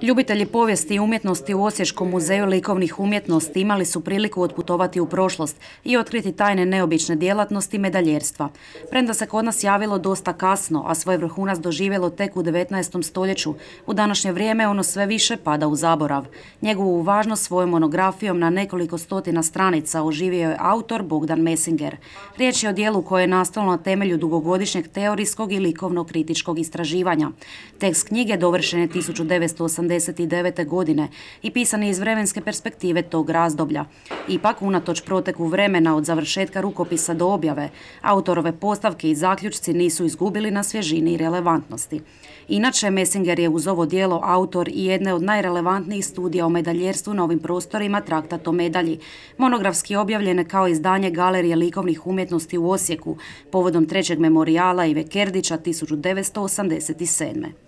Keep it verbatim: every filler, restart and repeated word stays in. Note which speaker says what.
Speaker 1: Ljubitelji povijesti i umjetnosti u Osječkom muzeju likovnih umjetnosti imali su priliku otputovati u prošlost i otkriti tajne neobične djelatnosti medaljerstva. Premda se kod nas javilo dosta kasno, a svoj vrhunac doživjelo tek u devetnaestom stoljeću, u današnje vrijeme ono sve više pada u zaborav. Njegovu važnost svojom monografijom na nekoliko stotina stranica oživio je autor Bogdan Mesinger. Riječ je o dijelu koje je nastalo na temelju dugogodišnjeg teorijskog i likovno-kritičkog istraživanja. Tekst knjige dovršen je tisuću devetsto osamdeset devete. godine i pisan je iz vremenske perspektive tog razdoblja. Ipak, unatoč proteku vremena od završetka rukopisa do objave, autorove postavke i zaključci nisu izgubili na svježini i relevantnosti. Inače, Mesinger je uz ovo djelo autor i jedne od najrelevantnijih studija o medaljerstvu na ovim prostorima Traktat o medalji, monografski objavljene kao izdanje Galerije likovnih umjetnosti u Osijeku povodom trećeg memorijala Ive Kerdića tisuću devetsto osamdeset sedme.